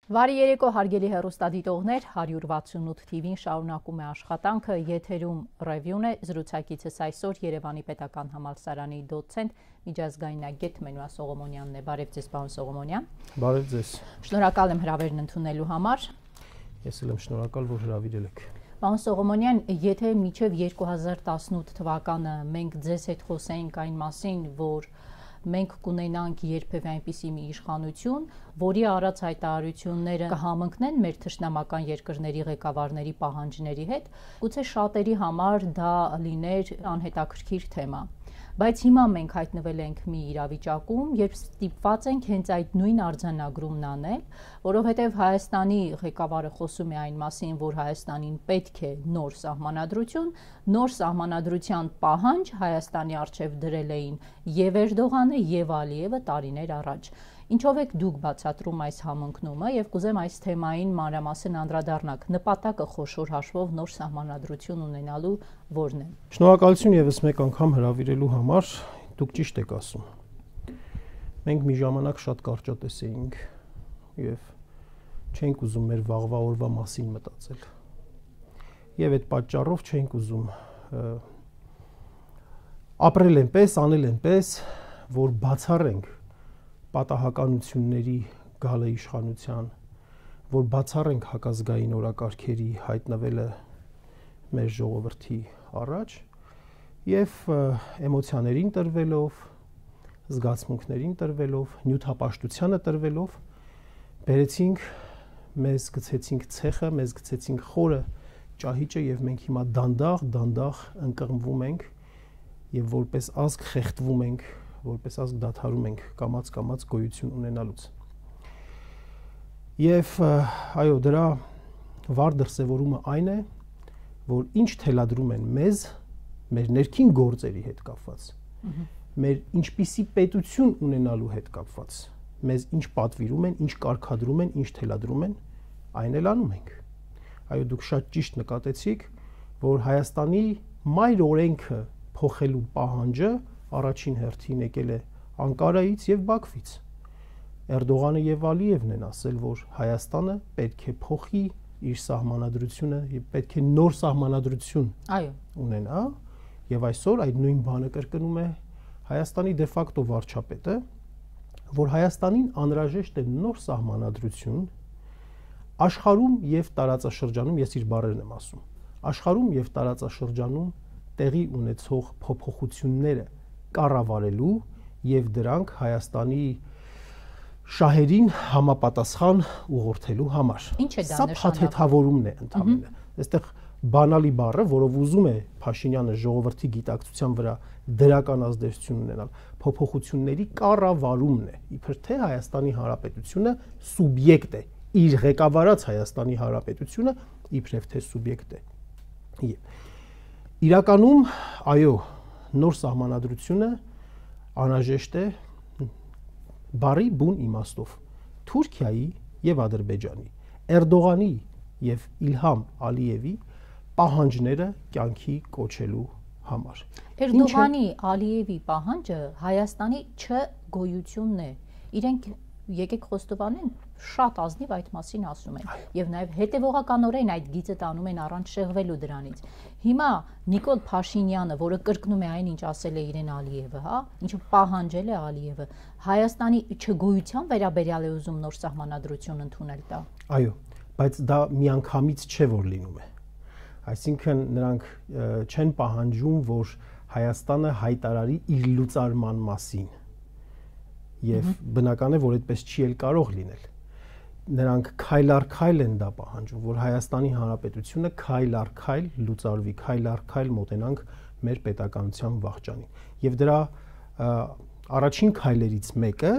Վարի երեկո հարգելի հեռուստադիտողներ, 168 TV-ին շարունակում է աշխատանքը, եթերում ռևյուն է, զրուցակիցս այսօր Երևանի պետական համալսարանի դոցենտ, միջազգայնագետ Մենուա Սողոմոնյանն է։ Բարև ձեզ, պարոն Սողոմոնյան։ Բարև ձեզ։ Շնորհակալ եմ հրավերն ընդունելու համար։ Ես էլ եմ շնորհակալ, որ հրավիրել եք։ Պարոն Սողոմոնյան, եթե մինչև 2018 թվականը մենք ձեզ հետ խոսեինք այն մասին, որ մենք կունենանք երբևէ այնպիսի մի իշխանություն, որի արած հայտարարությունները կհամընկնեն մեր թշնամական երկրների ղեկավարների պահանջների հետ, գուցե շատերի համար դա լիներ անհետաքրքիր թեմա։ Բայց հիմա մենք հայտնվել ենք մի իրավիճակում, երբ ստիպված ենք հենց այդ նույն արձանագրումն անել, որովհետև Հայաստանի ղեկավարը խոսում է այն մասին, որ Հայաստանին պետք է նոր սահմանադրություն, նոր սահմանադրության պահանջ Հայաստանի առջև դրել էին եւ Էրդողանը եւ Ալիևը տարիներ առաջ։ Ինչով եք դուք բացատրում այս համընկնումը եւ կուզեմ այս թեմային մանրամասն անդրադառնանք։ Նպատակը խոշոր հաշվով նոր սահմանադրություն ունենալու որն է։ Շնորհակալություն եւս մեկ անգամ հրավիրելու համար, դուք ճիշտ եք ասում։ Մենք մի ժամանակ շատ կարճատես էինք եւ չենք ուզում մեր վաղվա օրվա մասին մտածել։ Եվ այդ պատճառով չենք ուզում ապրել այնպես, անել այնպես, որ բացառենք պատահականությունների գալը իշխանության, որ բացառենք հակազգային օրակարգերի հայտնվելը մեր ժողովրդի առաջ եւ էմոցիաներին տրվելով, զգացմունքներին տրվելով, նյութապաշտությանը տրվելով բերեցինք, մեզ գցեցինք ցեխը, մեզ գցեցինք խորը ճահիճը եւ մենք հիմա դանդաղ ընկղմվում ենք եւ որպես ազգ խեղդվում ենք, որպես ազգ դադարում ենք կամաց գոյություն ունենալուց։ Եվ այո, դրա վառ դրսևորումը այն է, որ ինչ թելադրում են մեզ, մեր ներքին գործերի հետ կապված, մեր ինչպիսի պետություն ունենալու հետ կապված, մեզ ինչ պատվիրում են, ինչ կարգադրում են, ինչ թելադրում են, այն էլ անում ենք։ Այո, դուք շատ ճիշտ նկատեցիք, որ Հայաստանի մայր օրենքը փոխելու պահանջը առաջին հերթին եկել է Անկարայից եւ Բաքվից։ Էրդողանը եւ Ալիևն են ասել, որ Հայաստանը պետք է փոխի իր սահմանադրությունը եւ պետք է նոր սահմանադրություն ունենա, եւ այսօր այդ նույն բանը կրկնում է Հայաստանի դե ֆակտո վարչապետը, որ Հայաստանին անհրաժեշտ է նոր սահմանադրություն աշխարհում եւ տարածաշրջանում, ես իր բառերն եմ ասում, աշխարհում եւ տարածաշրջանում տեղի ունեցող փոփոխությունները կառավարելու եւ դրանք Հայաստանի շահերին համապատասխան ուղղորդելու համար։ Ինչ է դա նշանակում։ Սա փաթեթավորումն է ընդհանրապես։ Այստեղ բանալի բառը, որով ուզում է Փաշինյանը ժողովրդի գիտակցության վրա դրական ազդեցություն ունենալ, փոփոխությունների կառավարումն է։ Իբր թե Հայաստանի Հանրապետությունը սուբյեկտ է, իր ղեկավարած Հայաստանի Հանրապետությունը իբրև թե սուբյեկտ է։ Իրականում, այո, նոր սահմանադրությունը անհրաժեշտ է բարի բուն իմաստով Թուրքիայի եւ Ադրբեջանի, Էրդողանի եւ Իլհամ Ալիևի պահանջները կյանքի կոչելու համար։ Էրդողանի Ալիևի պահանջը Հայաստանի չգոյությունն է։ Իրենք եկեք խոստովանեն, շատ ազնիվ այդ մասին ասում են եւ նաեւ հետեւողականորեն այդ գիծը տանում են առանց շեղվելու դրանից։ Հիմա Նիկոլ Փաշինյանը, որը կրկնում է այն, ինչ ասել է իրեն Ալիևը, հա, ինչը պահանջել է Ալիևը, Հայաստանի չգոյության վերաբերյալ է ուզում նոր սահմանադրություն ընդունել դա։ Այո, բայց դա միանգամից չէ, որ լինում է։ Այսինքն նրանք չեն պահանջում, որ Հայաստանը հայտարարի իր լուծարման մասին։ Եվ բնական է, որ այդպես չի էլ կարող լինել։ Նրանք քայլ առ քայլ են դա պահանջում, որ Հայաստանի Հանրապետությունը քայլ առ քայլ լուծարվի, քայլ առ քայլ մոտենանք մեր պետականության վաղճանին։ Եվ դրա առաջին քայլերից մեկը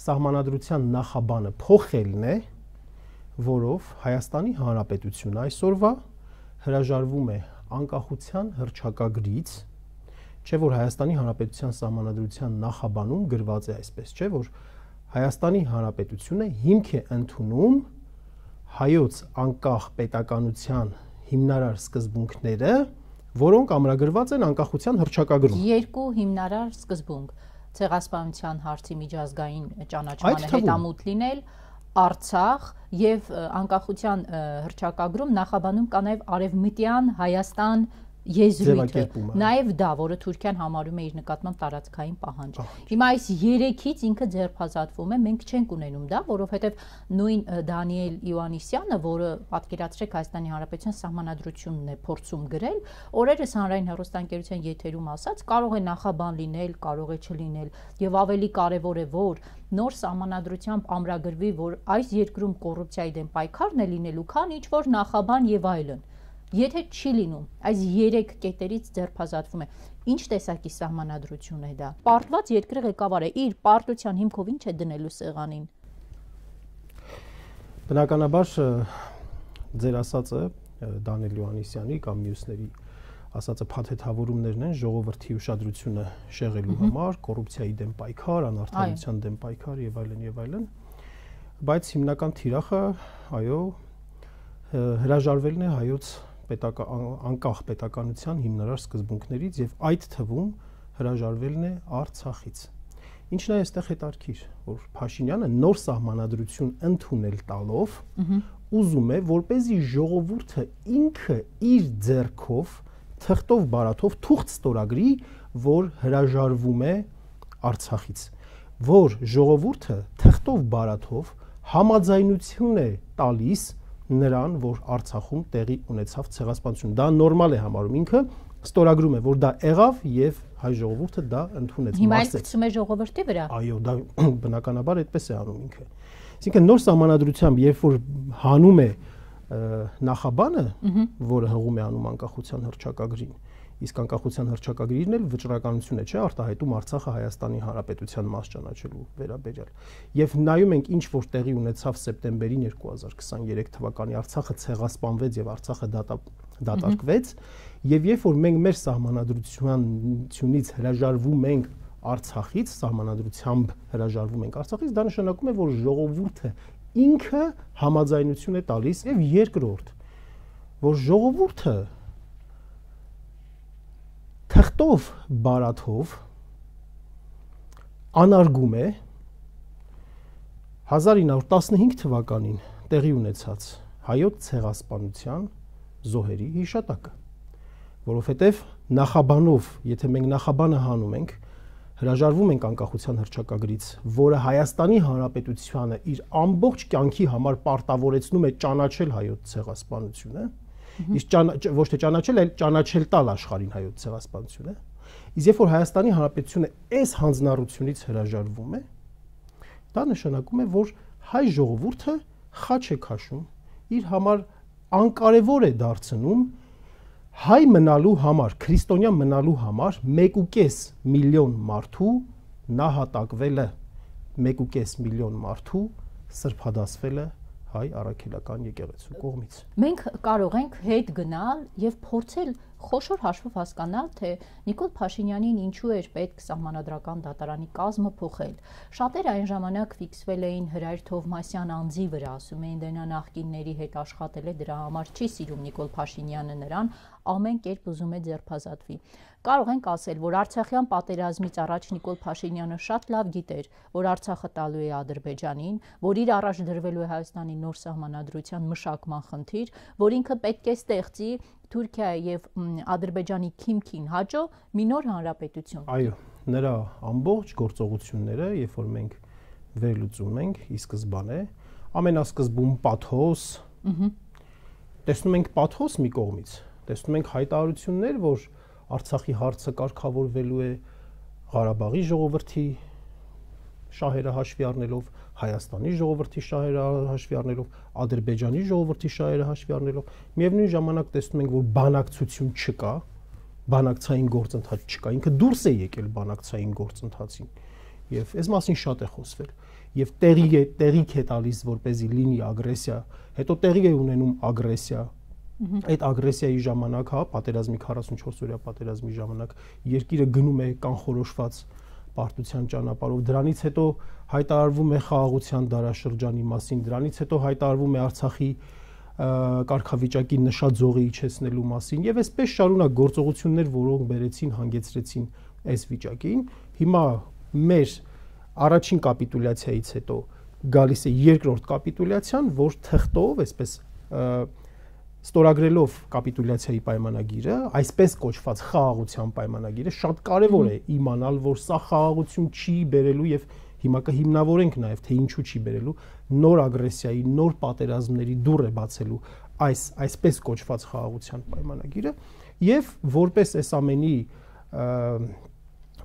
սահմանադրության նախաբանը փոխելն է, որով Հայաստանի Հանրապետությունը այսօրվա հրաժարվում է անկախության հռչակագրից, չէ՞ որ Հայաստանի Հանրապետության սահմանադրության նախաբանում գրված է այսպես, չէ՞ որ Հայաստանի Հանրապետությունը հիմք է ընդունում հայոց անկախ պետականության հիմնարար սկզբունքները, որոնք ամրագրված են անկախության հռչակագրում։ Երկու հիմնարար սկզբունք՝ ցեղասպանության հարցի միջազգային ճանաչմանը հետամուտ լինել, Արցախ եւ անկախության հռչակագրում նախաբանում կա նաեւ արևմտյան Հայաստան եզրույթը, նաև դա, որը Թուրքիան համարում է իր նկատմամբ տարածքային պահանջ։ Հիմա այս երեքից ինքը ձերբազատվում է, մենք չենք ունենում դա, որովհետև նույն Դանիել Իոաննիսյանը, որը պատկերացրեք Հայաստանի Հանրապետության սահմանադրությունն է փորձում գրել, օրերս հանրային հեռուստաընկերության եթերում ասաց, կարող է նախաբան լինել, կարող է չլինել, եւ ավելի կարեւոր է, որ նոր սահմանադրությամբ ամրագրվի, որ այս երկրում կոռուպցիայի դեմ պայքարն է լինելու, քան ինչ որ նախաբան եւ այլն։ Եթե չի լինում, այս 3 կետերից ձերբազատվում է։ Ինչ տեսակի սահմանադրություն է դա։ Պարտված երկրի ղեկավարը իր պարտության հիմքով ինչ է դնելու սեղանին։ Բնականաբար ձեր ասածը Դանիել Իոաննիսյանի կամ մյուսների ասածը փաթեթավորումներն են ժողովրդի ուշադրությունը շեղելու համար, կոռուպցիայի դեմ պայքար, անարդարության դեմ պայքար եւ այլն եւ այլն։ Բայց հիմնական թիրախը, այո, հրաժարվելն է հայոց անկախ պետականության հիմնարար սկզբունքներից եւ այդ թվում հրաժարվելն է Արցախից։ Ինչն է այստեղ հետարքիր, որ Փաշինյանը նոր սահմանադրություն ընդունել տալով ուզում է, որպեսզի ժողովուրդը ինքը իր ձեռքով թղթով բարաթով թուղթ ստորագրի, որ հրաժարվում է Արցախից, որ ժողովուրդը թղթով բարաթով համաձայնություն է տալիս նրան, որ Արցախում տեղի ունեցավ ցեղասպանություն։ Դա նորմալ է համարում, ինքը ստորագրում է, որ դա եղավ եւ հայ ժողովուրդը դա ընդունեց։ Հիմա էլ գցում է ժողովրդի վրա։ Այո, դա բնականաբար այդպես է անում ինքը։ Այսինքն նոր սահմանադրությամբ, երբ որ հանում է նախաբանը, որը հղում է անում անկախության հռչակագրին, իսկ անկախության հռչակագրին էլ վճռականություն է, չէ, արտահայտում Արցախը Հայաստանի Հանրապետության մաս ճանաչելու վերաբերյալ։ Եվ նայում ենք ինչ որ տեղի ունեցավ սեպտեմբերին 2023 թվականի, Արցախը ցեղասպանվեց եւ Արցախը դատարկվեց, եւ երբ որ մենք մեր սահմանադրությունից հրաժարվում ենք Արցախից, սահմանադրությամբ հրաժարվում ենք Արցախից, դա նշանակում է, որ ժողովուրդը ինքը համաձայնություն է տալիս եւ երկրորդ, որ ժողովուրդը թղթով բարաթով անարգում է 1915 թվականին տեղի ունեցած հայոց ցեղասպանության զոհերի հիշատակը, որովհետև նախաբանով, եթե մենք նախաբանը հանում ենք, հրաժարվում ենք անկախության հռչակագրից, որը Հայաստանի Հանրապետությանը իր ամբողջ կյանքի համար պարտավորեցնում է ճանաչել հայոց ցեղասպանությունը, իսկ ոչ թե ճանաչել, այլ ճանաչել տալ աշխարհին հայոց ցեղասպանությունը, իսկ երբ որ Հայաստանի Հանրապետությունը այս հանձնառությունից հրաժարվում է, դա նշանակում է, որ հայ ժողովուրդը խաչ է քաշում, իր համար անկարևոր է դարձնում հայ մնալու համար, քրիստոնյա մնալու համար 1.5 միլիոն մարդու նահատակվելը, 1.5 միլիոն մարդու սրբադասվելը հայ առաքելական եկեղեցու կողմից։ Մենք կարող ենք հետ գնալ եւ փորձել խոշոր հաշվով հասկանալ, թե Նիկոլ Փաշինյանին ինչու էր պետք սահմանադրական դատարանի կազմը փոխել։ Շատերը այն ժամանակ ֆիքսվել էին Հրայր Թովմասյան անձի վրա, ասում էին, դե նա նախկինների հետ աշխատել է, դրա համար չի սիրում Նիկոլ Փաշինյանը նրան, ամեն կերպ ուզում է ձերբազատվի։ Կարող ենք ասել, որ Արցախյան պատերազմից առաջ Նիկոլ Փաշինյանը շատ լավ գիտեր, որ Արցախը տալու է Ադրբեջանին, որ իր առաջ դրվելու է Հայաստանի նոր սահմանադրության մշակման խնդիր, որ ինքը պետք է ստեղծի Թուրքիայի եւ Ադրբեջանի քիմքին հաջո մի նոր հանրապետություն։ Այո, նրա ամբողջ գործողությունները, երբ որ մենք վերլուծում ենք ի սկզբանե, ամենասկզբում պաթոս, տեսնում ենք պաթոս մի կողմից, տեսնում ենք հայտարարություններ, որ Արցախի հարցը կարգավորվելու է Ղարաբաղի ժողովրդի շահերը հաշվի առնելով, Հայաստանի ժողովրդի շահերը հաշվի առնելով, Ադրբեջանի ժողովրդի շահերը հաշվի առնելով, միևնույն ժամանակ տեսնում ենք, որ բանակցություն չկա, բանակցային գործընթաց չկա, ինքը դուրս է եկել բանակցային գործընթացին եւ այս մասին շատ է խոսվել եւ տեղիք է տալիս, որպեսզի լինի ագրեսիա, հետո տեղի է ունենում ագրեսիա։ Այդ ագրեսիայի ժամանակ, հա, պատերազմի 44-օրյա պատերազմի ժամանակ երկիրը գնում է կանխորոշված պարտության ճանապարհով, դրանից հետո հայտարարվում է խաղաղության դարաշրջանի մասին, դրանից հետո հայտարարվում է Արցախի կարգավիճակի նշաձողի իջեցնելու մասին եւ այսպես շարունակ գործողություններ, որոնք բերեցին, հանգեցրեցին այս վիճակին։ Հիմա մեր առաջին կապիտուլյացիայից հետո գալիս է երկրորդ կապիտուլյացիան, որ թղթով, այսպես ստորագրելով կապիտուլյացիայի պայմանագիրը, այսպես կոչված խաղաղության պայմանագիրը, շատ կարևոր է իմանալ, որ սա խաղաղություն չի բերելու եւ հիմա կհիմնավորենք նաեւ թե ինչու չի բերելու, նոր ագրեսիայի, նոր պատերազմների դուռ է բացելու այսպես կոչված խաղաղության պայմանագիրը եւ որպես այս ամենի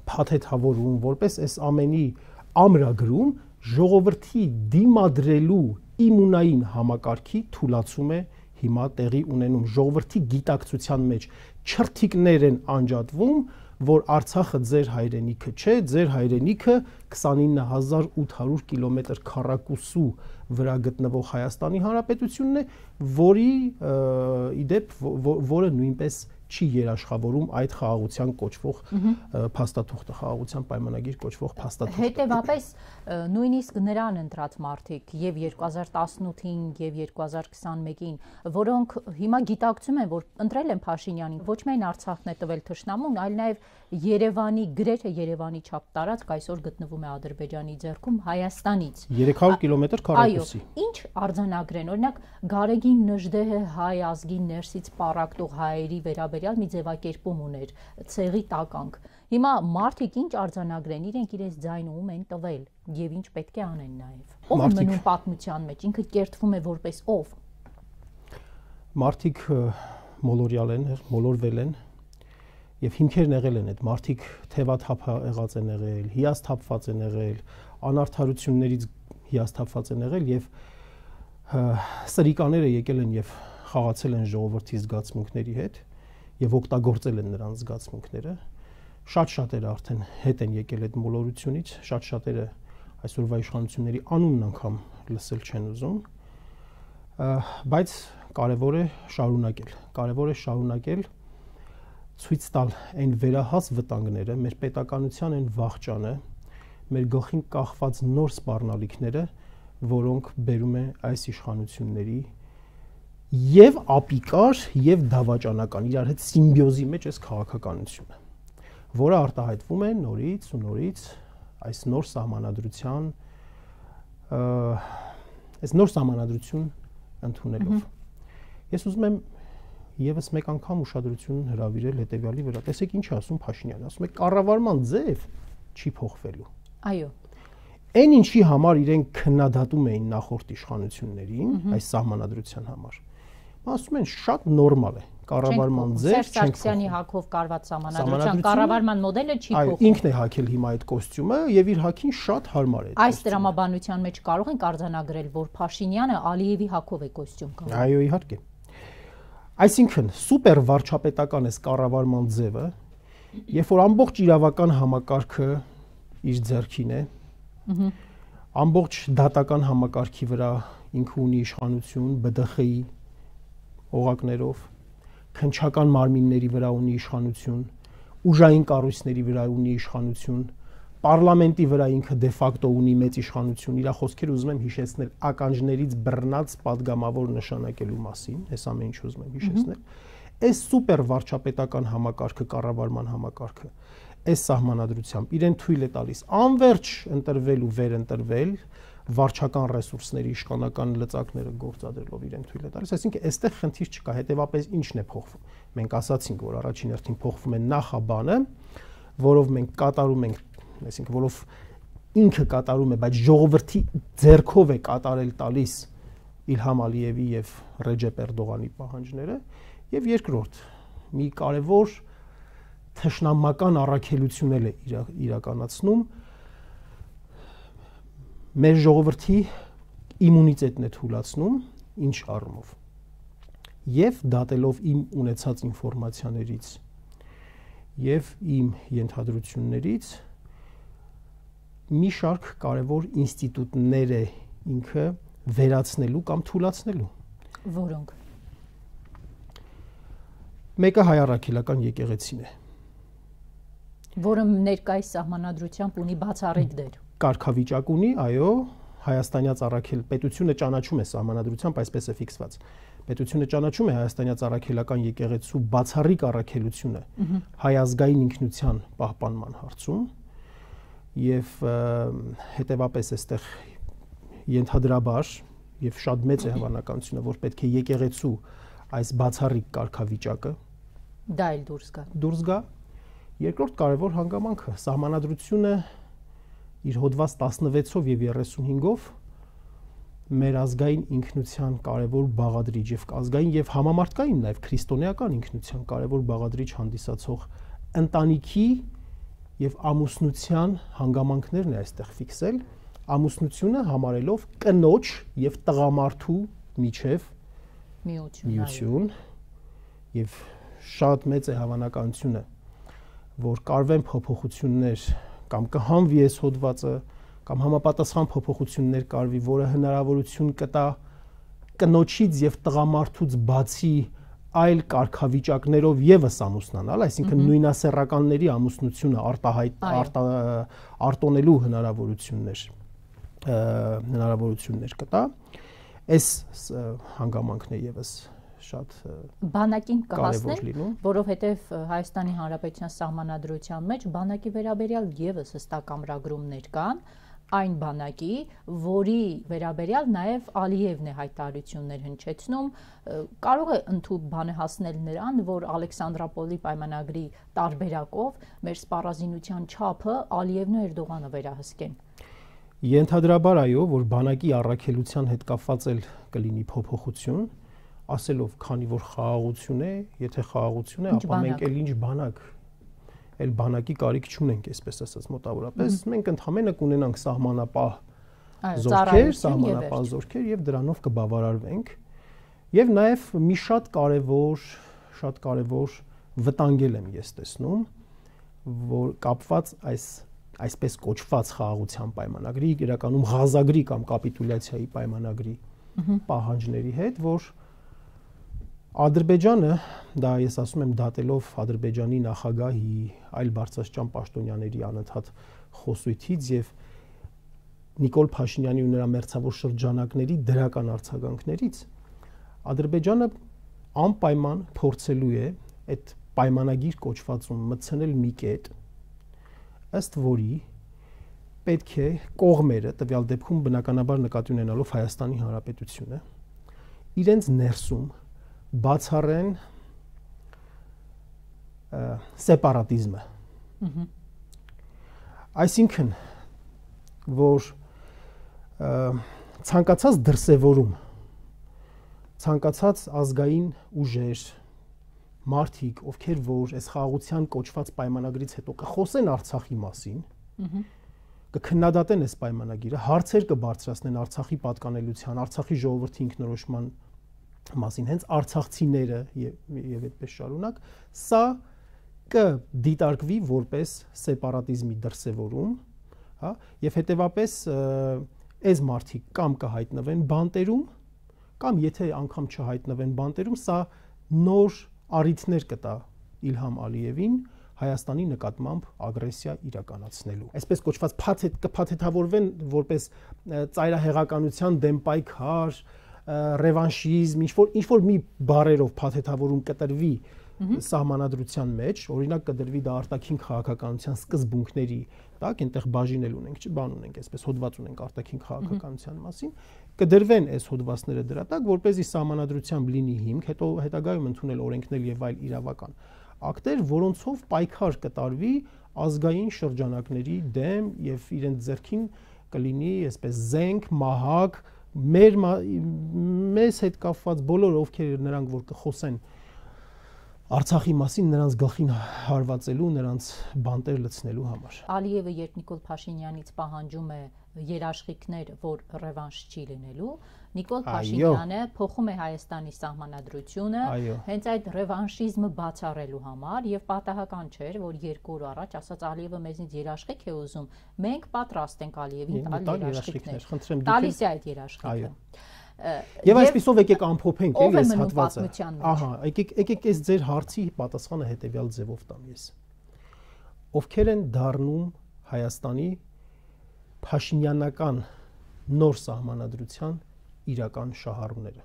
փաթեթավորում, որպես այս ամենի ամրագրում ժողովրդի դիմադրելու իմունային համակարգի թուլացում է հիմա տեղի ունենում ժողովրդի գիտակցության մեջ չրթիկներ են անջատվում, որ Արցախը ձեր հայրենիքը չէ, ձեր հայրենիքը 29800 կիլոմետր քառակուսու վրա գտնվող Հայաստանի Հանրապետությունն է, որի իդեպ որը նույնպես չի երաշխավորում այդ խաղաղության կոչվող փաստաթուղթը, խաղաղության պայմանագիր կոչվող փաստաթուղթը։ Հետևաբար նույնիսկ նրան ընտրած մարդիկ եւ 2018-ին եւ 2021-ին, որոնք հիմա գիտակցում են, որ ընտրել են Փաշինյանին, ոչ միայն Արցախն է տվել թշնամուն, այլ նաեւ Երևանի, գրեթե Երևանի չափ տարածք այսօր գտնվում է Ադրբեջանի ձեռքում Հայաստանից 300 կիլոմետր քառակուսի։ Ինչ արձանագրեն, օրինակ Գարեգին Նժդեհը հայ ազգի ներսից պառակտող հայերի վերաբերյալ մի ձևակերպում ուներ, ցեղի տականք։ Հիմա մարդիկ ինչ արձանագրեն, իրենք իրենց ձայնում են տվել եւ ինչ պետք է անեն նաեւ։ Ով է մնում պատմության մեջ, ինքը կերտվում է որպես ով։ Մարդիկ մոլորյալ են, մոլորվել են եւ հիմքերն եղել են այդ մարդիկ թևաթափ եղած են եղել, հիասթափված են եղել, անարդարություններից հիասթափված են եղել եւ սրիկաները եկել են եւ խաղացել են ժողովրդի զգացմունքների հետ եւ օգտագործել են նրանց զգացմունքները։ Շատ-շատերը արդեն հետ են եկել այդ մոլորությունից, շատ-շատերը այսօրվա իշխանությունների անունն անգամ լսել չեն ուզում, բայց կարևոր է շարունակել ցույց տալ այն վերահաս վտանգները, մեր պետականության այն վախճանը, մեր գլխին կախված նոր սպառնալիքները, որոնք բերում են այս իշխանությունների եւ ապիկար եւ դավաճանական իրար հետ սիմբիոզի մեջ այս քաղաքականությունը, որը արտահայտվում է նորից ու նորից այս նոր սահմանադրության ընդունելով։ Ես ուզում եմ եւս մեկ անգամ ուշադրություն հրավիրել հետեւյալի վրա։ Տեսեք ինչ ասում Փաշինյանը, ասում է կառավարման ձև չի փոխվելու։ Այո։ Այն ինչի համար իրենք քննադատում էին նախորդ իշխանություններին, այս սահմանադրության համար։ Ասում են շատ նորմալ է, կառավարման ձև չենք Սարգսյանի հակով կարված սահմանադրության կառավարման մոդելը չի փոխվում։ Այո, ինքն է հակել հիմա այդ կոստյումը եւ իր հակին շատ հարմար է։ Այս տրամաբանության մեջ կարող ենք արձանագրել, որ Փաշինյանը Ալիևի հակով է կոստյում կապել։ Այո, իհարկե։ Այսինքն սուպեր վարչապետական է կառավարման ձևը, երբ որ ամբողջ իրավական համակարգը իր ձեռքին է, ամբողջ դատական համակարգի վրա ինքը ունի իշխանություն, ԲԴԽ-ի օղակներով, քննչական մարմինների վրա ունի իշխանություն, ուժային կառույցների վրա ունի իշխանություն, պարլամենտի վրա ինքը դե ֆակտո ունի մեծ իշխանություն, իր խոսքերը ուզում եմ հիշեցնել ականջներից բռնած падգամավոր նշանակելու մասին, այս ամեն ինչ ուզում եմ հիշեցնել։ Այս սուպեր վարչապետական համակարգը, կառավարման համակարգը, այս սահմանադրությամբ իրեն թույլ է տալիս անverջ ընտրվել ու վերընտրվել, վարչական ռեսուրսների իշխանական լծակները գործադրելով իրեն թույլ է տալիս, այսինքն այստեղ խնդիր չկա, հետեւապես ինչն է փոխվում։ Մենք ասացինք, որ առաջին հերթին փոխվում է նախաբանը, որով մենք կատարում ենք, այսինքն որով ինքը կատարում է, բայց ժողովրդի ձեռքով է կատարել տալիս Իլհամ Ալիևի եւ Ռեջեփ Էրդողանի պահանջները, եւ երկրորդ մի կարևոր թշնամական առաքելություն է իրականացնում մեր ժողովրդի իմունիտետն է թուլացնում ինչ առումով եւ դատելով իմ ունեցած ինֆորմացիաներից եւ իմ ենթադրություններից մի շարք կարևոր ինստիտուտներ է ինքը վերացնելու կամ թուլացնելու։ Որոնք։ Մեկը հայ առաքելական եկեղեցին է, որը ներկայիս սահմանադրությամբ ունի բացառիկ դեր։ Կարգավիճակ ունի, այո, հայաստանյաց առաքել պետությունը ճանաչում է սահմանադրությամբ, այսպես է ֆիքսված։ Պետությունը ճանաչում է հայաստանյաց առաքելական եկեղեցու բացառիկ առաքելությունը հայ ազգային ինքնության պահպանման հարցում եւ հետեւապես այստեղ ենթադրաբար եւ շատ մեծ է հավանականությունը, որ պետք է եկեղեցու այս բացառիկ կարգավիճակը դա էլ դուրս գա։ Երկրորդ կարևոր հանգամանքը սահմանադրությունը իր հոդված 16-ով եւ 35-ով մեր ազգային ինքնության կարևոր բաղադրիչ եւ ազգային եւ համամարտկային նաեւ քրիստոնեական ինքնության կարևոր բաղադրիչ հանդիսացող ընտանիքի եւ ամուսնության հանգամանքներն է այստեղ ֆիքսել, ամուսնությունը համարելով կնոջ եւ տղամարդու միջև միություն եւ շատ մեծ է հավանականությունը, որ կարվեն փոփոխություններ կամ կհանվի այս հոդվածը կամ համապատասխան փոփոխություններ կարվի, որը հնարավորություն կտա կնոջից եւ տղամարդուց բացի այլ կարգավիճակներով եւս ամուսնանալ, այսինքն նույնասեռականների ամուսնությունը արտոնելու հնարավորություններ կտա։ Այս հանգամանքն է եւս շատ բանակին կհասներ, որովհետև Հայաստանի Հանրապետության սահմանադրության մեջ բանակի վերաբերյալ եւս հստակ ամրագրումներ կան, այն բանակի, որի վերաբերյալ նաև Ալիևն է հայտարարություններ հնչեցնում, կարող է ընդհանուր բանը հասնել նրան, որ Ալեքսանդրապոլի պայմանագրի տարբերակով մեր սպառազինության չափը Ալիևն ու Էրդողանը վերահսկեն։ Ենթադրաբար այո, որ բանակի առաքելության հետ կապված էլ կլինի փոփոխություն, ասելով, քանի որ խաղաղություն է, եթե խաղաղություն է, ապա մենք էլ ինչ բանակ էլ բանակի կարիք չունենք, այսպես ասած, մոտավորապես մենք ընդհանրապես կունենանք սահմանապահ զորքեր եւ դրանով կբավարարվենք եւ նաեւ մի շատ կարեւոր վտանգել եմ ես տեսնում, որ կապված այսպես կոչված խաղաղության պայմանագրի, իրականում Ղազագրի կամ կապիտուլյացիայի պայմանագրի պահանջների հետ, որ Ադրբեջանը, դա ես ասում եմ դատելով Ադրբեջանի նախագահի, այլ բարձրաստիճան պաշտոնյաների անընդհատ խոսույթից եւ Նիկոլ Փաշինյանի ու նրա մերձավոր շրջանակների դրական արձագանքներից, Ադրբեջանը անպայման փորձելու է այդ պայմանագիր կոչվածում մտցնել մի կետ, ըստ որի պետք է կողմերը, տվյալ դեպքում բնականաբար նկատի ունենալով Հայաստանի Հանրապետությունը, իրենց ներսում բացառեն սեպարատիզմը։ Այսինքն, որ ցանկացած դրսևորում, ցանկացած ազգային ուժեր, մարդիկ, ովքեր որ այս խաղաղության կոչված պայմանագրից հետո կխոսեն Արցախի մասին, կքննադատեն այս պայմանագիրը, հարցեր կբարձրացնեն Արցախի պատկանելիության, Արցախի ժողովրդի ինքնորոշման մասին, հենց արցախցիները եւ այդպես շարունակ, սա կդիտարկվի որպես սեպարատիզմի դրսևորում, հա, եւ հետեւապես այս մարդիկ կամ կհայտնվեն բանտերում, կամ եթե անգամ չհայտնվեն բանտերում, սա նոր առիթներ կտա Իլհամ Ալիևին Հայաստանի նկատմամբ ագրեսիա իրականացնելու։ Այսպես կոչված կփաթեթավորվեն որպես ծայրահեղականության դեմ պայքար, ռևանշիզմ, ինչ որ մի բառերով փաթեթավորում կտրվի սահմանադրության մեջ, օրինակ կդրվի դա արտաքին քաղաքականության սկզբունքների, տակ այնտեղ բաժինել ունենք, բան ունենք, այսպես հոդված ունենք արտաքին քաղաքականության մասին, կդրվեն այս հոդվածները դրա տակ, որպեսզի սահմանադրությամբ լինի հիմք, հետո հետագայում ընդունել օրենքներ եւ այլ իրավական ակտեր, որոնցով պայքար կտարվի ազգային շրջանակների դեմ եւ իրենց ձեռքին կլինի այսպես զենք, մահակ, մեզ հետ կապված բոլոր ովքեր նրանք որ կխոսեն Արցախի մասին նրանց գլխին հարվածելու, նրանց բանտեր լցնելու համար։ Ալիևը երբ Նիկոլ Փաշինյանից պահանջում է երաշխիքներ, որ ռևանշ չի լինելու, Նիկոլ Փաշինյանը փոխում է Հայաստանի սահմանադրությունը հենց այդ ռևանշիզմը բացառելու համար եւ պատահական չէր, որ 2 օր առաջ ասաց Ալիևը մեզնից երաշխիք է ուզում, մենք պատրաստ ենք Ալիևին տալ երաշխիքներ։ Տալիս է այդ երաշխիքը։ Եվ այսպեսով եկեք ամփոփենք այս հատվածը։ Ահա, եկեք այս ձեր հարցի պատասխանը հետեւյալ ձևով տամ ես։ Ովքեր են դառնում Հայաստանի փաշինյանական նոր սահմանադրության իրական շահառուները։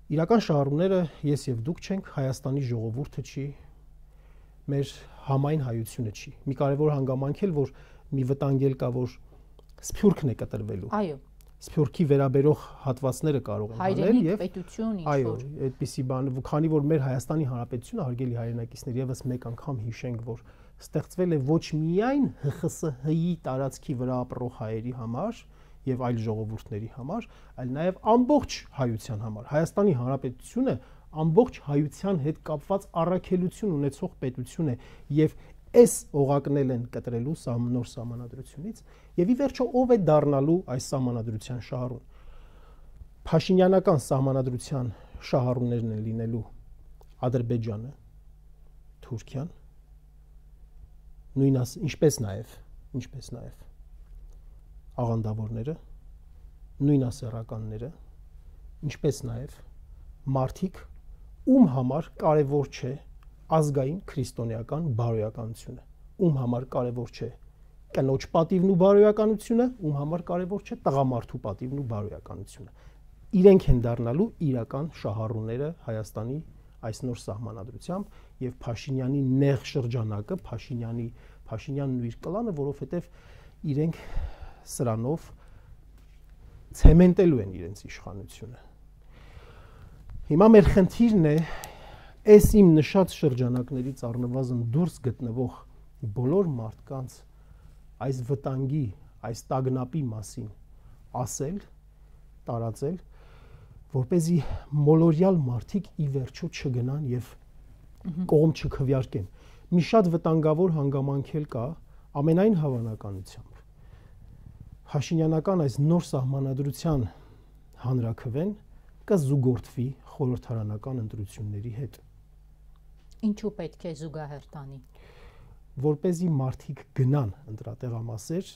Իրական շահառուները ես եւ դուք չենք, Հայաստանի ժողովուրդը չի, մեր համայն հայությունը չի։ Մի կարևոր հանգամանք էլ, որ մի վտանգ էլ կա, որ սփյուռքն է կտրվելու։ Այո։ Սփյուռքի վերաբերող հատվածները կարող են հանել եւ պետություն ինչ որ։ Այո, այդպիսի բան, քանի որ մեր Հայաստանի Հանրապետությունը հարգելի հայրենակիցներ եւս մեկ անգամ հիշենք, որ ստեղծվել է ոչ միայն ՀԽՍՀ-ի տարածքի վրա ապրող հայերի համար եւ այլ ժողովուրդների համար, այլ նաեւ ամբողջ հայության համար։ Հայաստանի Հանրապետությունը ամբողջ հայության հետ կապված առաքելություն ունեցող պետություն է եւ այս օղակնել են կտրելու նոր սահմանադրությունից եւ ի վերջո ով է դառնալու այս սահմանադրության շահառուն։ Փաշինյանական սահմանադրության շահառուներն են լինելու Ադրբեջանը, Թուրքիան, ինչպես նաեւ աղանդավորները, նույնասեռականները, ինչպես նաեւ մարդիկ, ում համար կարևոր չէ ազգային քրիստոնեական բարոյականությունը, ում համար կարևոր չէ կնոջ պատիվն ու բարոյականությունը, ում համար կարևոր չէ տղամարդու պատիվն ու բարոյականությունը։ Իրենք են դառնալու իրական շահառուները Հայաստանի այս նոր սահմանադրությամբ եւ Փաշինյանի նեղ շրջանակը, Փաշինյանն ու իր կլանը, որովհետեւ իրենք սրանով ցեմենտելու են իրենց իշխանությունը։ Հիմա մեր խնդիրն է այս իմ նշած շրջանակներից առնվազն դուրս գտնվող բոլոր մարդկանց այս վտանգի, այս տագնապի մասին ասել, տարածել, որպեսզի մոլորյալ մարդիկ ի վերջո չգնան եւ կողմ չքվյարկեն։ Մի շատ վտանգավոր հանգամանք էլ կա ամենայն հավանականությամբ։ Փաշինյանական այս նոր սահմանադրության հանրաքվեն կզուգորդվի խորհրդարանական ընտրությունների հետ։ Ինչու պետք է զուգահեռ տանի։ Որպեսզի մարդիկ գնան ընտրատեղամասեր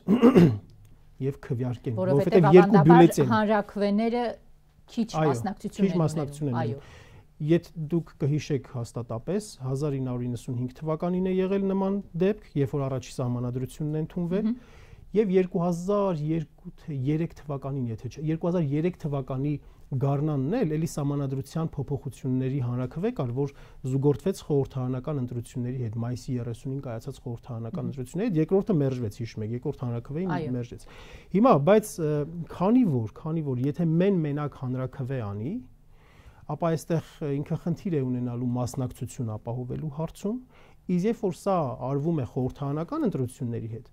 եւ քվյարկեն, որովհետեւ երկու բյուլետեն հանրաքվեները քիչ մասնակցություն են։ Այո։ Եթե դուք կհիշեք հաստատապես 1995 թվականին է եղել նման դեպք, երբ որ առաջի սահմանադրությունն է ընդունվել, եւ 2002-3 թվականին, եթե չէ, 2003 թվականի գարնանն էլ էլի սահմանադրության փոփոխությունների հանրաքվե կար, որ զուգորդվեց խորհրդարանական ընտրությունների հետ, մայիսի 30-ին կայացած խորհրդարանական ընտրությունների հետ, երկրորդը մերժվեց, հիշում եք, երկրորդ հանրաքվեին մերժեց։ Հիմա, բայց քանի որ եթե մենակ հանրաքվե անի, ապա այստեղ ինքը խնդիր է ունենալու մասնակցություն ապահովելու հարցում, իսկ երբ որ սա արվում է խորհրդարանական ընտրությունների հետ,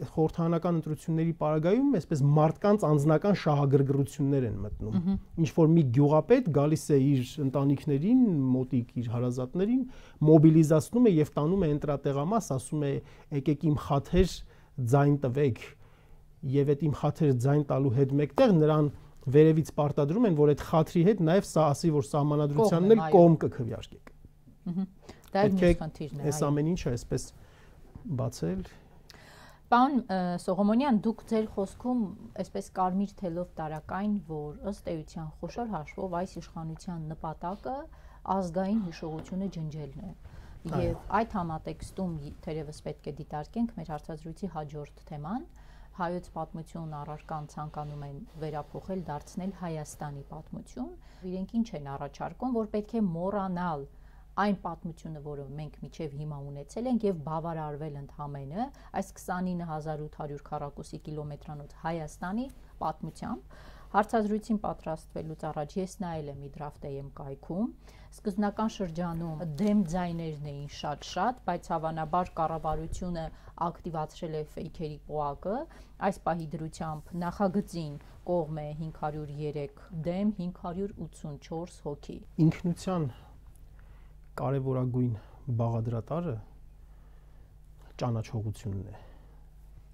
խորհրդարանական ընտրությունների պարագայում այսպես մարդկանց անձնական շահագրգռություններ են մտնում։ Ինչ որ մի գյուղապետ գալիս է իր ընտանիքներին, մոտիկ իր հարազատներին, մոբիլիզացնում է եւ տանում է ընտրատեղամաս, ասում է եկեք իմ խաթեր ձայն տվեք, եւ այդ իմ խաթեր ձայն տալու հետ մեկտեղ նրան վերևից պարտադրում են, որ այդ խաթրի հետ նաեւ սա ասի, որ սահմանադրությանն էլ կողմ կքվյարկեք։ Դա է մյուս խնդիրն է։ Այս ամեն ինչը այսպես բացել։ Պարոն Սողոմոնյան, դուք ձեր խոսքում այսպես կարմիր թելով տարակային, որ ըստ էության խոշոր հաշվով այս իշխանության նպատակը ազգային հիշողությունը ջնջելն է։ Եվ այդ համատեքստում թերևս պետք է դիտարկենք մեր հարցազրույցի հաջորդ թեման, հայոց պատմություն առարկան ցանկանում են վերափոխել, դարձնել Հայաստանի պատմություն։ Իրենք ինչ են առաջարկում, որ պետք է մոռանալ այն պատմությունը, որը մենք միջև հիմա ունեցել ենք եւ բավարարվել ընդհանրապես այս 29800 քառակուսի կիլոմետրանոց Հայաստանի պատմությամբ։ Հարցազրույցին պատրաստվելուց առաջ ես նայել եմ Իդրավտեյեմ կայքում։ Սկզբնական շրջանում դեմ ձայներն էին շատ, բայց հավանաբար կառավարությունը ակտիվացրել է ֆեյքերի պոակը։ Այս պահի դրությամբ նախագծին կողմ է 503 դեմ 584 հոգի։ Ինքնության կարևորագույն բաղադրատարը ճանաչողությունն է,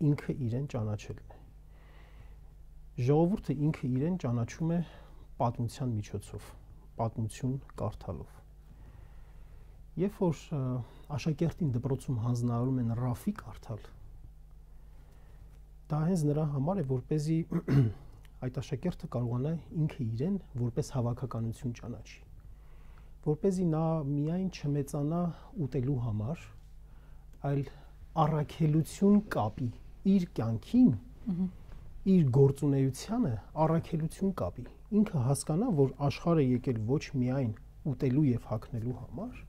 ինքը իրեն ճանաչելն է։ Ժողովուրդը ինքը իրեն ճանաչում է պատմության միջոցով, պատմություն կարդալով։ Երբ որ աշակերտին դպրոցում հանձնարարում են ռաֆի կարդալ, դա հենց նրա համար է, որպեսզի այդ աշակերտը կարողանա ինքը իրեն որպես հավաքականություն ճանաչի, որպեսզի նա միայն չմեծանա ուտելու համար, այլ առաքելություն կապի իր կյանքին, իր գործունեությանը առաքելություն կապի, ինքը հասկանա, որ աշխարհը եկել ոչ միայն ուտելու եւ հագնելու համար,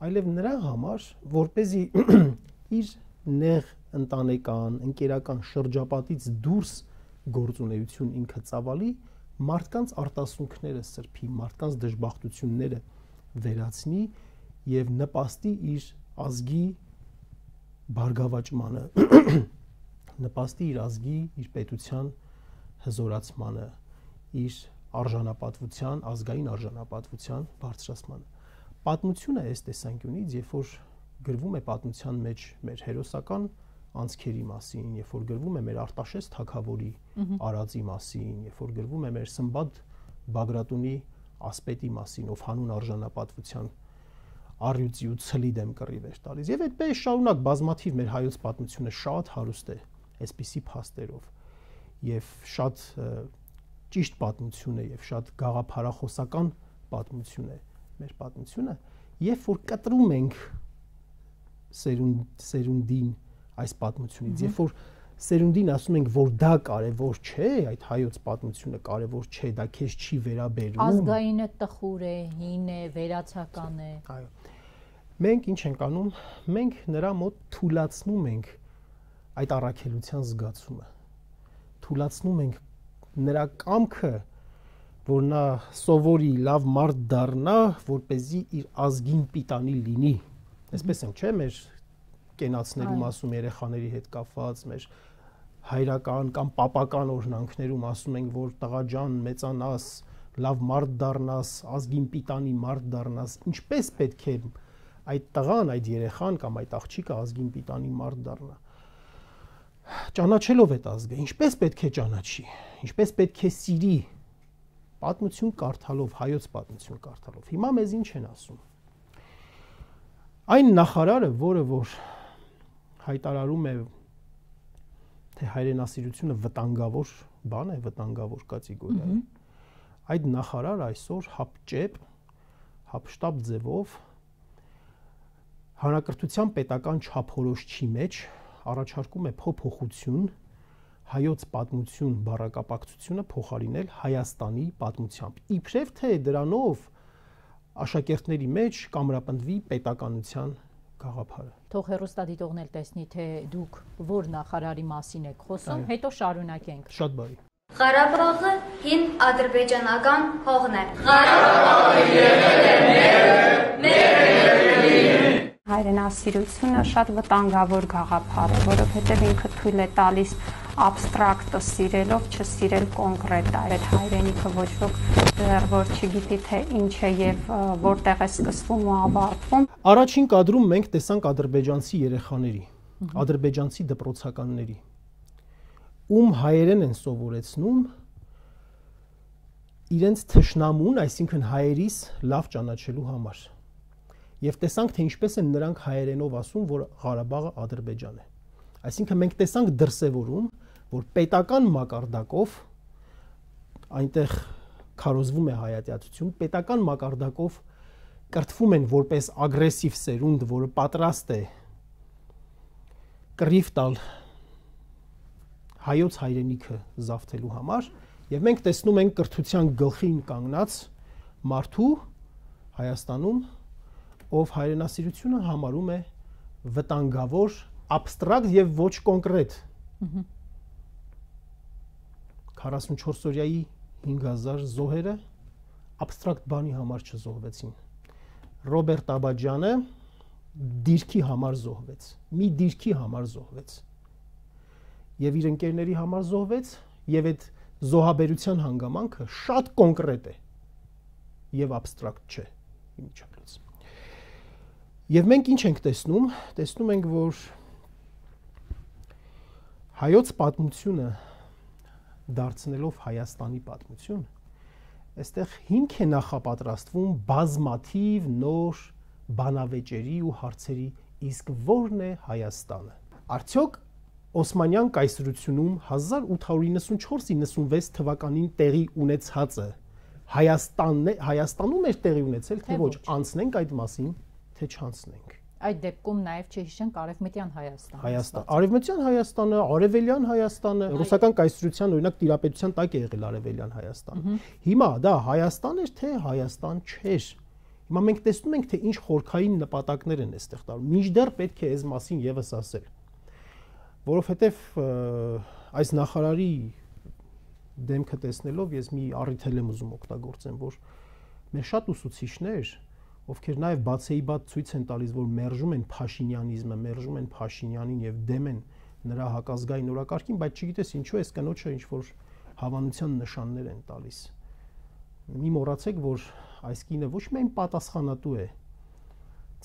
այլև նրա համար, որպեսզի իր նեղ ընտանեկան, ընկերական շրջապատից դուրս գործունեություն ինքը ծավալի, մարդկանց արտասունքները սրբի, մարդկանց դժբախտությունները վերացնի եւ նպաստի իր ազգի բարգավաճմանը, նպաստի իր ազգի, իր պետության հզորացմանը, իր արժանապատվության, ազգային արժանապատվության բարձրացմանը։ Պատմությունը այս տեսանկյունից, երբ որ գրվում է պատմության մեջ մեր հերոսական անցքերի մասին, երբ որ գրվում է մեր Արտաշես թագավորի արածի մասին, երբ որ գրվում է մեր Սմբատ Բագրատունի ասպետի մասին, ով հանուն արժանապատվության առյուծի ու ցլի դեմ կռիվ էր տալիս։ Եվ այդպես շարունակ բազմաթիվ մեր հայոց պատմությունը շատ հարուստ է այսպիսի փաստերով եւ շատ ճիշտ պատմություն է եւ շատ գաղափարախոսական պատմություն է մեր պատմությունը, երբ որ կտրում ենք սերունդին այս պատմությունից, երբ որ սերունդին ասում ենք, որ դա կարևոր չէ, այդ հայոց պատմությունը կարևոր չէ, դա քեզ չի վերաբերում, ազգայինը տխուր է, հին է, վերացական է։ Այո։ Մենք ինչ ենք անում, մենք նրա մոտ թուլացնում ենք այդ առաքելության զգացումը, թուլացնում ենք նրա կամքը, որ նա սովորի լավ մարդ դառնա, որպեսզի իր ազգին պիտանի լինի։ Այսպես ենք, չէ՞, մեր կենացներում ասում երեխաների հետ կապված, մեր հայրական կամ պապական օրհնանքներում ասում ենք, որ տղա ջան, մեծանաս, լավ մարդ դառնաս, ազգին պիտանի մարդ դառնաս, ինչպես պետք է այդ տղան, այդ երեխան կամ այդ աղջիկը ազգին պիտանի մարդ դառնա։ Ճանաչելով այդ ազգը, ինչպես պետք է ճանաչի, ինչպես պետք է սիրի, պատմություն կարդալով, հայոց պատմություն կարդալով։ Հիմա մեզ ինչ են ասում։ Այն նախարարը, որը որ հայտարարում է, թե հայրենասիրությունը վտանգավոր բան է, վտանգավոր կատեգորիա է, այդ նախարարը այսօր հապճեպ, հապշտապ ձևով հանրակրթության պետական չափորոշչի մեջ առաջարկում է փոփոխություն հայոց պատմություն բառակապակցությունը փոխարինել Հայաստանի պատմությամբ։ Իբրև թե դրանով աշակերտների մեջ կամրապնդվի պետականության գաղափարը։ Թող հեռուստադիտողն էլ տեսնի, թե դուք որ նախարարի մասին եք խոսում, հետո շարունակենք։ Շատ բարի։ Ղարաբաղը հին ադրբեջանական հողն է։ Ղարաբաղը եղել է մեր հայրենասիրությունը շատ վտանգավոր գաղափար է, որովհետև ինքը թույլ է տալիս abstract-ը սիրելով չսիրել կոնկրետ այդ հայրենիքը ոչ ոք դեռ որ չգիտի թե ինչ է եւ որտեղ է սկսվում ու ավարտվում։ Առաջին կադրում մենք տեսանք ադրբեջանցի երեխաների, ադրբեջանցի դպրոցականների, ում հայերեն են սովորեցնում իրենց թշնամուն, այսինքն հայերիս լավ ճանաչելու համար։ Եվ տեսանք, թե ինչպես են նրանք հայերենով ասում, որ Ղարաբաղը Ադրբեջան է։ Այսինքն մենք տեսանք դրսևորում, որ պետական մակարդակով այնտեղ քարոզվում է հայատյացություն, պետական մակարդակով կրթվում են որպես ագրեսիվ սերունդ, որը պատրաստ է կռիվ տալ հայոց հայրենիքը զավթելու համար, եւ մենք տեսնում ենք կրթության գլխին կանգնած մարդու Հայաստանում, ով հայրենասիրությունը համարում է վտանգավոր, abstract եւ ոչ կոնկրետ։ 44-օրյայի 5000 զոհերը abstract բանի համար չզոհվեցին։ Ռոբերտ Աբաջյանը դիրքի համար զոհվեց, մի դիրքի համար զոհվեց։ Եվ իր ընկերների համար զոհվեց, եւ այդ զոհաբերության հանգամանքը շատ կոնկրետ է եւ abstract չէ իմիջիայլոց։ Եվ մենք ինչ ենք տեսնում, տեսնում ենք, որ հայոց պատմությունը դարձնելով Հայաստանի պատմություն, այստեղ հիմք է նախապատրաստվում բազմաթիվ նոր բանավեճերի ու հարցերի, իսկ ո՞րն է Հայաստանը։ Արդյոք Օսմանյան կայսրությունում 1894-96 թվականին տեղի ունեցածը Հայաստանում էր տեղի ունեցել, թե ոչ, անցնենք այդ մասին, թե չանցնենք։ Այդ դեպքում նաև չհիշենք Արևմտյան Հայաստանը։ Արևմտյան Հայաստանը, Արևելյան Հայաստանը, ռուսական կայսրության օրինակ տիրապետության տակ է եղել Արևելյան Հայաստանը։ Հիմա դա Հայաստան էր, թե Հայաստան չէր։ Հիմա մենք տեսնում ենք, թե ինչ խորքային նպատակներ են այստեղ տալու։ Մինչդեռ պետք է այս մասին եւս ասել։ որովհետև այս նախարարի դեմքը տեսնելով ես մի առիթ եմ ուզում օգտագործեմ, որ մեր շատ ուսուցիչներ, ովքեր նաև բացեիբաց ցույց են տալիս, որ մերժում են փաշինյանիզմը, մերժում են Փաշինյանին եւ դեմ են նրա հակազգային օրակարգին, բայց չգիտես ինչու էս կնոջը ինչ որ հավանության նշաններ են տալիս։ Մի մոռացեք, որ այս կինը ոչ միայն պատասխանատու է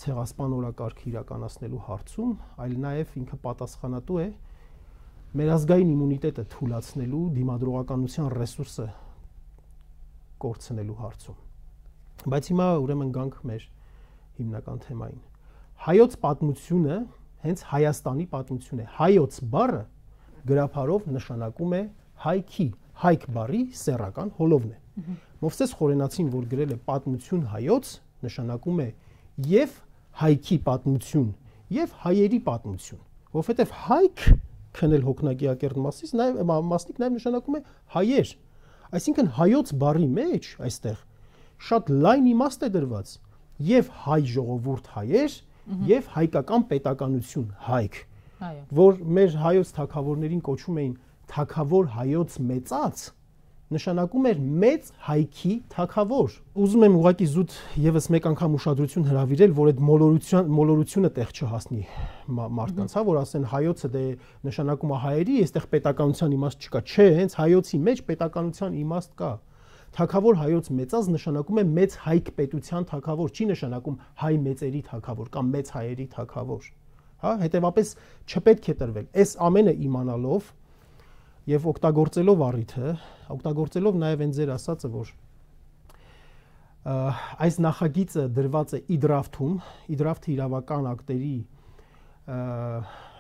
ցեղասպան օրակարգը իրականացնելու հարցում, այլ նաև ինքը պատասխանատու է մեր ազգային իմունիտետը թուլացնելու, դիմադրողականության ռեսուրսը կորցնելու հարցում։ Բայց հիմա ուրեմն գանք մեր հիմնական թեմային։ Հայոց պատմությունը հենց Հայաստանի պատմություն է։ Հայոց բառը գրաբարով նշանակում է հայքի, հայք բառի սեռական հոլովն է։ Մովսես Խորենացին, որ գրել է պատմություն հայոց, նշանակում է եւ հայքի պատմություն, եւ հայերի պատմություն, որովհետեւ հայք քնել հոգնակիակերտ մասնիկ նաեւ նշանակում է հայեր։ Այսինքն հայոց բառի մեջ այստեղ շատ լայն իմաստ է դրված եւ հայ ժողովուրդ հայեր եւ հայկական պետականություն հայք, որ մեր հայոց թագավորներին կոչում էին թագավոր հայոց մեծած, նշանակում էր մեծ հայքի թագավոր։ Ուզում եմ ուղղակի զուտ եւս մեկ անգամ ուշադրություն հրավիրել, որ այդ մոլորությունը տեղ չհասնի մարդկանց, հա, որ ասեն հայոցը դե նշանակում է հայերի, այստեղ պետականության իմաստ չկա։ Չէ, հենց հայոցի մեջ պետականության իմաստ կա։ Թագավոր հայոց մեծած նշանակում է մեծ հայք պետության թագավոր, չի նշանակում հայ մեծերի թագավոր կամ մեծ հայերի թագավոր։ Հա, հետեւապես չպետք է տրվել։ Այս ամենը իմանալով եւ օգտագործելով առիթը, օգտագործելով նաեւ այն ձեր ասածը, որ այս նախագիծը դրված է իդրաֆթում, իդրաֆթը իրավական ակտերի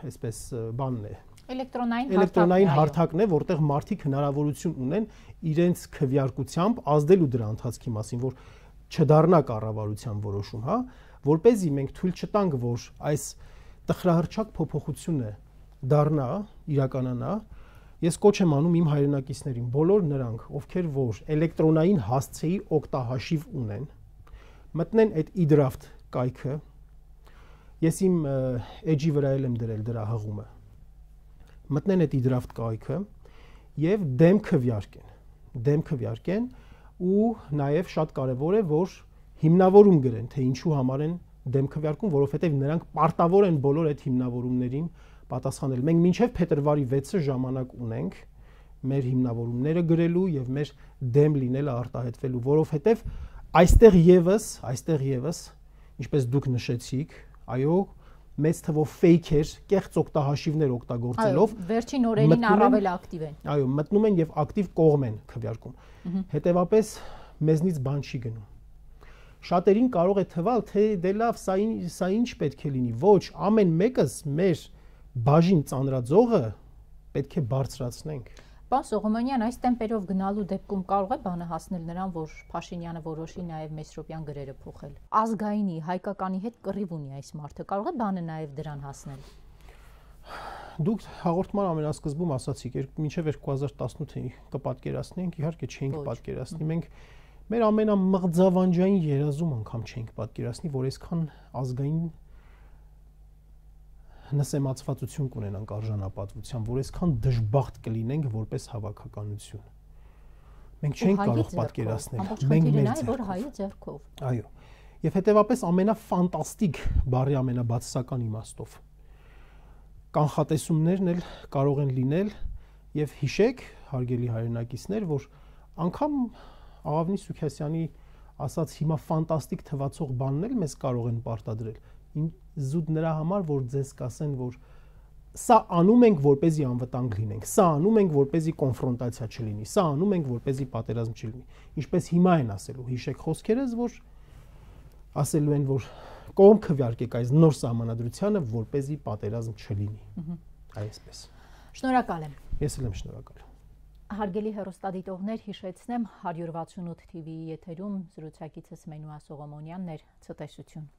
այսպես բանն է, էլեկտրոնային հարթակն է, որտեղ մարդիկ հնարավորություն ունեն իրենց քվեարկությամբ ազդելու դրա ընթացքի մասին, որ չդառնա կառավարության որոշում, հա, որպեսզի մենք թույլ չտանք, որ այս տխրահռչակ փոփոխությունը դառնա, իրականանա, ես կոչ եմ անում իմ հայրենակիցներին, բոլոր նրանք, ովքեր որ էլեկտրոնային հասցեի օգտահաշիվ ունեն, մտնեն այդ իդրաֆտ կայքը, ես իմ էջի վրա եմ դրել դրա հղումը, մտնեն այդ իդրաֆտ կայքը եւ դեմ քվեարկեն ու նաեւ շատ կարեւոր է, որ հիմնավորում գրեն, թե ինչու համար են դեմ քվեարկում, որովհետեւ նրանք պարտավոր են բոլոր այդ հիմնավորումներին պատասխանել։ Մենք մինչև փետրվարի 6-ը ժամանակ ունենք մեր հիմնավորումները գրելու եւ մեր դեմ լինելը արտահայտվելու, որովհետեւ այստեղ եւս, ինչպես դուք նշեցիք, այո, մեծ թվով ֆեյքեր, կեղծ օգտահաշիվներ օգտագործելով վերջին օրերին առավել ակտիվ են։ Այո, մտնում են եւ ակտիվ կողմ են քվեարկում։ Հետեւապես մեզնից բան չի գնում։ Շատերին կարող է թվալ, թե դե լավ, սա ինչ պետք է լինի։ Ոչ, ամեն մեկս մեր բաժին ծանրաձողը պետք է բարձրացնենք։ Պարոն Սողոմոնյան, այս տեմպերով գնալու դեպքում կարող է բանը հասնել նրան, որ Փաշինյանը որոշի նաև Մեսրոպյան գրերը փոխել։ Ազգայինի, հայկականի հետ կռիվ ունի այս մարդը, կարող է բանը նաև դրան հասնել։ Դուք հաղորդման ամենասկզբում ասացիք, մինչև 2018-ին կպատկերացնենք, իհարկե չենք պատկերացնի, մենք մեր ամենամղձավանջային երազում անգամ չենք պատկերացնի, որ այսքան ազգային նսեմացվածություն կունենանք արժանապատվության, որ այսքան դժբախտ կլինենք որպես հավաքականություն։ Մենք չենք կարող պատկերացնել, մենք մեր ձեռքով։ Այո։ Եվ հետեւապես ամենաֆանտաստիկ բառի ամենաբացասական իմաստով կանխատեսումներն էլ կարող են լինել եւ հիշեք, հարգելի հայրենակիցներ, որ անգամ Աղավնի Սուքասյանի ասած հիմա ֆանտաստիկ թվացող բանն էլ մեզ կարող են պարտադրել։ Զուտ նրա համար, որ ձեզ կասեն, որ սա անում ենք, որպեսզի անվտանգ լինենք, սա անում ենք, որպեսզի կոնֆրոնտացիա չլինի, սա անում ենք, որպեսզի պատերազմ չլինի։ Ինչպես հիմա են ասելու, հիշեք խոսքերս, որ ասելու են, որ կողմ քվեարկեք այս նոր սահմանադրությանը, որպեսզի պատերազմ չլինի։ Այսպես։ Շնորհակալ եմ։ Ես էլ եմ շնորհակալ։ Հարգելի հեռուստադիտողներ, հիշեցնեմ 168 TV-ի եթերում զրուցակիցս Մենուա Սողոմոնյանն էր, ցտեսություն։